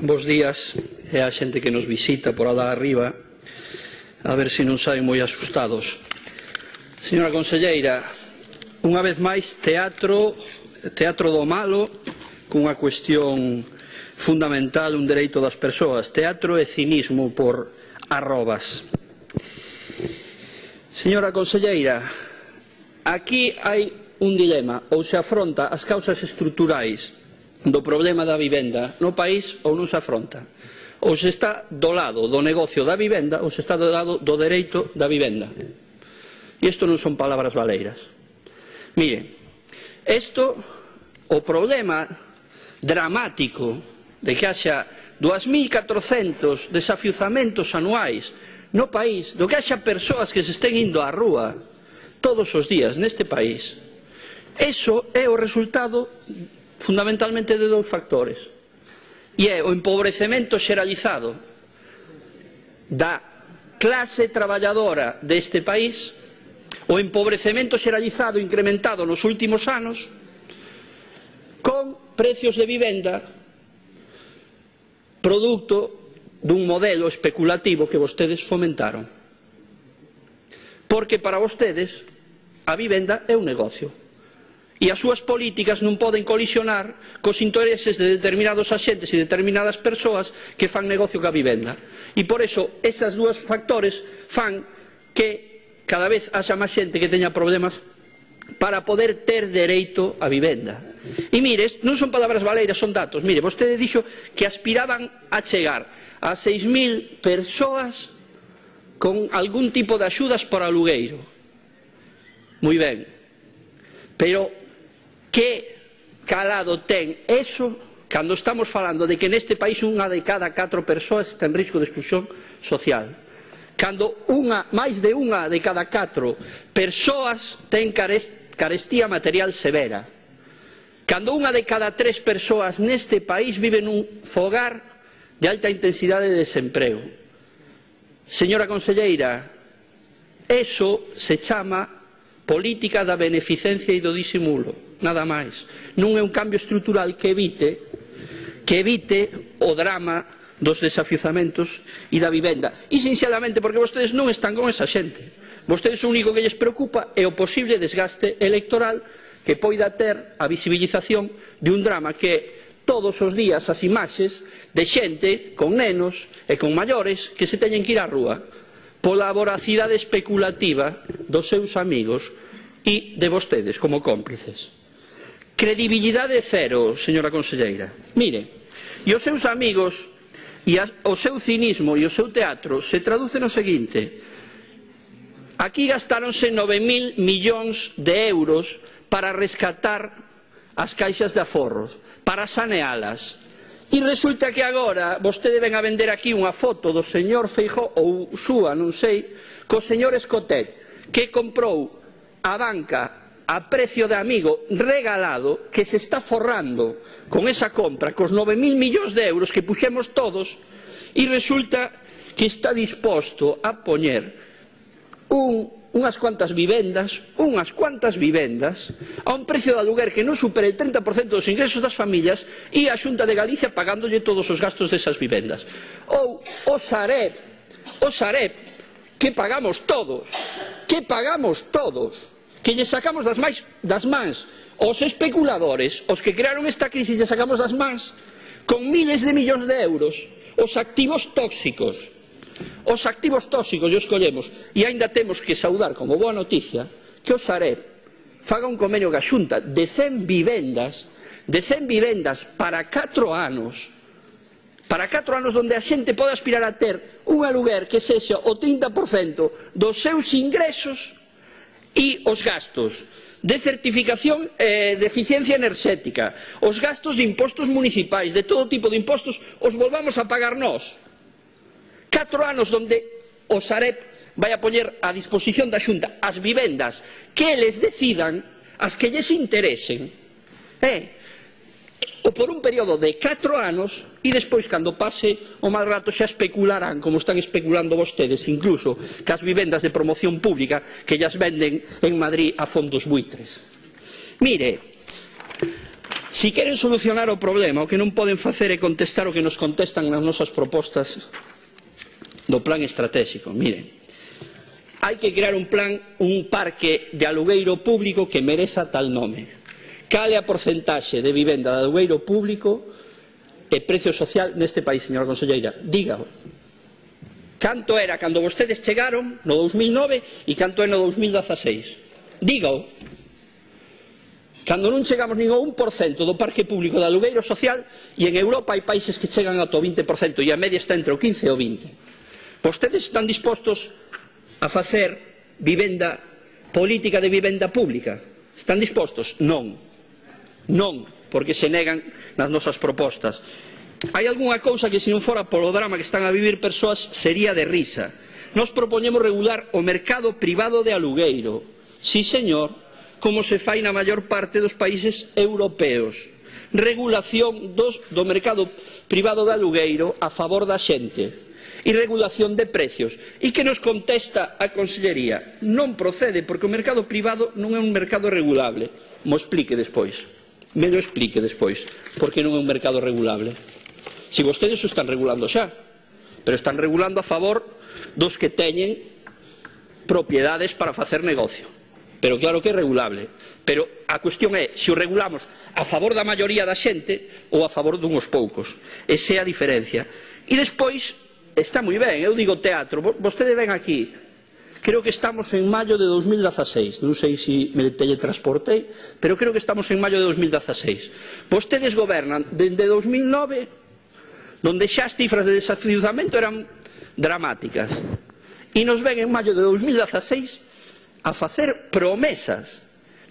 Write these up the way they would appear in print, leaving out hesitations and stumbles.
bos días e a xente que nos visita por alá arriba, a ver se non saen moi asustados. Señora conselleira, unha vez máis teatro do malo cunha cuestión fundamental, un dereito das persoas, teatro e cinismo por arrobas. Señora conselleira, aquí hai un dilema: ou se afronta as causas estruturais do problema da vivenda no país ou non se afronta. Ou se está do lado do negocio da vivenda ou se está do lado do dereito da vivenda. E isto non son palabras baleiras. Mire, o problema dramático de que haxa 2.400 desafiuzamentos anuais no país, do que haxa persoas que se estén indo á rúa todos os días neste país, eso é o resultado fundamentalmente de dous factores, e é o empobrecemento xeralizado da clase traballadora deste país, o empobrecemento xeralizado incrementado nos últimos anos con precios de vivenda producto dun modelo especulativo que vostedes fomentaron, porque para vostedes a vivenda é un negocio e as súas políticas non poden colisionar cos intereses de determinados axentes e determinadas persoas que fan negocio ca vivenda. E por iso, esas dúas factores fan que cada vez haxa máis xente que teña problemas para poder ter dereito a vivenda. E mire, non son palabras baleiras, son datos. Mire, vostede dixo que aspiraban a chegar a 6.000 persoas con algún tipo de axudas por alugueiro. Moi ben, pero que calado ten eso cando estamos falando de que neste país unha de cada 4 persoas está en risco de exclusión social, cando máis de unha de cada 4 persoas ten carestía material severa, cando unha de cada 3 persoas neste país vive nun fogar de alta intensidade de desemprego. Señora conselleira, eso se chama política da beneficencia e do disimulo, nada máis. Non é un cambio estrutural que evite o drama dos desafiuzamentos e da vivenda. E sinceramente porque vostedes non están con esa xente. Vostedes o único que lles preocupa é o posible desgaste electoral que poida ter a visibilización de un drama que é todos os días as imaxes de xente con nenos e con maiores que se teñen que ir á rúa pola voracidade especulativa dos seus amigos e de vostedes como cómplices. Credibilidade cero, señora conselleira. Mire, e os seus amigos e o seu cinismo e o seu teatro se traduce no seguinte: aquí gastáronse 9.000 millóns de euros para rescatar as caixas de aforros, para sanealas. E resulta que agora vostede ven a vender aquí unha foto do señor Feijóo ou súa, non sei, co señor Escotet, que comprou a banca a precio de amigo regalado, que se está forrando con esa compra, cos 9.000 millóns de euros que puxemos todos, e resulta que está disposto a poñer unhas cuantas vivendas a un precio de aluguer que non supere el 30% dos ingresos das familias, e a Xunta de Galicia pagándolle todos os gastos desas vivendas. Ou o Sareb, que pagamos todos, que lle sacamos das mans aos especuladores, os que crearon esta crisis, lle sacamos das mans con miles de millóns de euros os activos tóxicos e os collemos. E aínda temos que saudar como boa noticia que o Sareb faga un convenio ca Xunta de 100 vivendas para 4 anos, onde a xente pode aspirar a ter un aluguer que sexa o 30% dos seus ingresos, e os gastos de certificación de eficiencia enerxética, os gastos de impostos municipais, de todo tipo de impostos, os volvamos a pagar nós. 4 anos onde o Sareb vai a poñer a disposición da Xunta as vivendas que eles decidan, as que lles interesen, ou por un período de 4 anos, e despois, cando pase o mal rato, xa especularán, como están especulando vostedes, incluso cas vivendas de promoción pública que llas venden en Madrid a fondos buitres. Mire, Si queren solucionar o problema, o que non poden facer é contestar o que nos contestan nas nosas propostas do plan estratégico. Miren, hai que crear un parque de alugueiro público que mereza tal nome. Cal é a porcentaxe de vivenda de alugueiro público e precio social neste país, señora conselleira? Dígao. Canto era cando vostedes chegaron no 2009 e canto é no 2016? Dígao. Cando non chegamos nin ao 1% do parque público de alugueiro social, e en Europa hai países que chegan ata o 20% e a media está entre o 15 e o 20%. Vostedes están dispostos a facer política de vivenda pública? Están dispostos? Non. Non, porque se negan nas nosas propostas. Hai algunha cousa que se non fora polo drama que están a vivir persoas sería de risa. Nos propoñemos regular o mercado privado de alugueiro. Sí, señor, como se fai na maior parte dos países europeos. Regulación do mercado privado de alugueiro a favor da xente. E regulación de precios. E que nos contesta a Consellería? Non procede, porque o mercado privado non é un mercado regulable. Mo explique despois. Me lo explique despois, porque non é un mercado regulable. Si vostedes o están regulando xa, pero están regulando a favor dos que teñen propiedades para facer negocio. Pero claro que é regulable. Pero a cuestión é se o regulamos a favor da maioría da xente ou a favor dunhos poucos. Esa é a diferencia. E despois, está moi ben, eu digo teatro, vostede ven aquí. Creo que estamos en maio de 2016, non sei se me teletransportei, pero creo que estamos en maio de 2016. Vostedes gobernan dende 2009, donde xa as cifras de desafiuzamento eran dramáticas, e nos ven en maio de 2016 a facer promesas.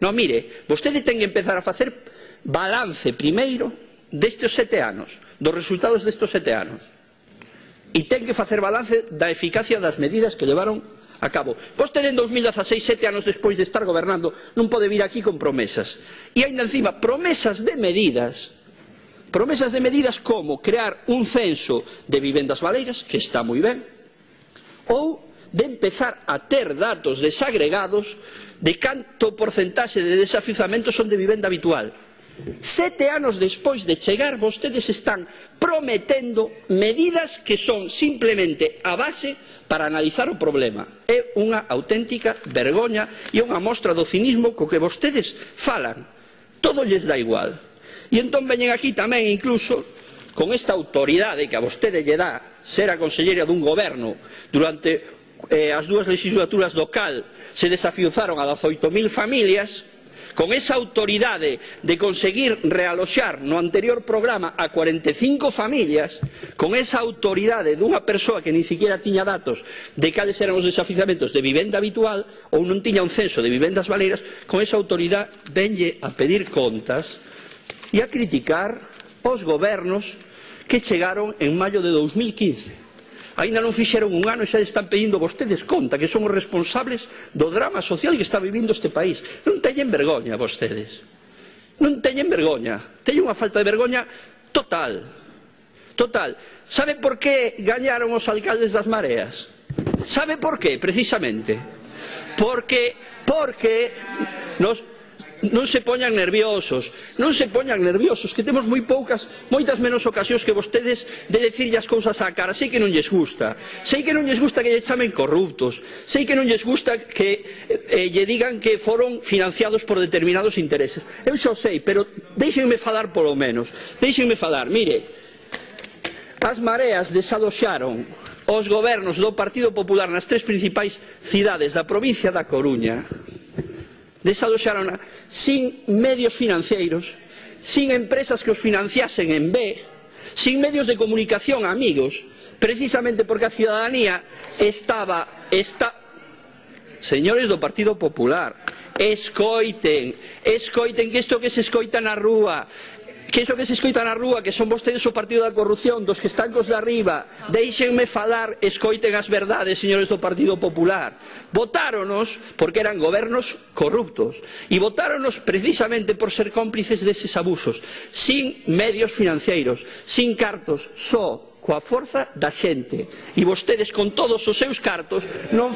Non, mire, vostede ten que empezar a facer balance primeiro destes 7 anos, dos resultados destes 7 anos, e ten que facer balance da eficacia das medidas que levaron a cabo. Vostede en 2016, 7 anos despois de estar gobernando, non pode vir aquí con promesas. E ainda encima, promesas de medidas como crear un censo de vivendas baleiras, que está moi ben, ou de empezar a ter datos desagregados de canto porcentaxe de desafiuzamento son de vivenda habitual. 7 anos despois de chegar, vostedes están prometendo medidas que son simplemente a base para analizar o problema. É unha auténtica vergoña e unha mostra do cinismo co que vostedes falan. Todo lles dá igual. E entón veñen aquí tamén incluso con esta autoridade que a vostede lle dá ser a conselleira dun goberno durante as 2 legislaturas do cal se desafiuzaron a 18.000 familias, con esa autoridade de conseguir realoxar no anterior programa a 45 familias, con esa autoridade dunha persoa que nin siquiera tiña datos de cales eran os desafiuzamentos de vivenda habitual ou non tiña un censo de vivendas baleiras, con esa autoridade venlle a pedir contas e a criticar os gobernos que chegaron en maio de 2015. Ainda non fixeron un ano e xa están pedindo vostedes conta, que son os responsables do drama social que está vivindo este país. Non teñen vergoña vostedes. Non teñen vergoña. Teñen unha falta de vergoña total. Total. Sabe por que gañaron os alcaldes das Mareas? Sabe por que, precisamente? Porque non se poñan nerviosos, que temos moitas menos ocasións que vostedes de decirlle as cousas á cara. Sei que non lles gusta que lle chamen corruptos, sei que non lles gusta que lle digan que foron financiados por determinados intereses. Eu xo sei, pero déixenme falar polo menos. Mire, as Mareas desaloxaron os gobernos do Partido Popular nas 3 principais cidades da provincia da Coruña. Desaloxaron sin medios financeiros, sin empresas que os financiasen en B, sin medios de comunicación amigos, precisamente porque a ciudadanía señores do Partido Popular, escoiten que isto que se escoita na rúa, que son vostedes o partido da corrupción, dos que están cos de arriba. Déixenme falar, escoiten as verdades, señores do Partido Popular. Votáronos porque eran gobernos corruptos e votáronos precisamente por ser cómplices deses abusos, sin medios financeiros, sin cartos, só coa forza da xente. E vostedes con todos os seus cartos non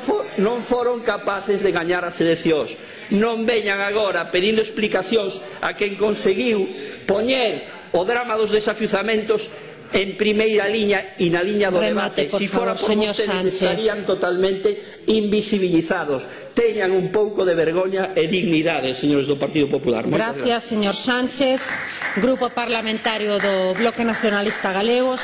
foron capaces de gañar as eleccións. non veñan agora pedindo explicacións a quen conseguiu poñer o drama dos desafiuzamentos en primeira liña e na liña do debate. Si fora por vostedes estarían totalmente invisibilizados. Teñan un pouco de vergoña e dignidade, señores do Partido Popular. Gracias, señor Sánchez. Grupo Parlamentario do Bloque Nacionalista Galego.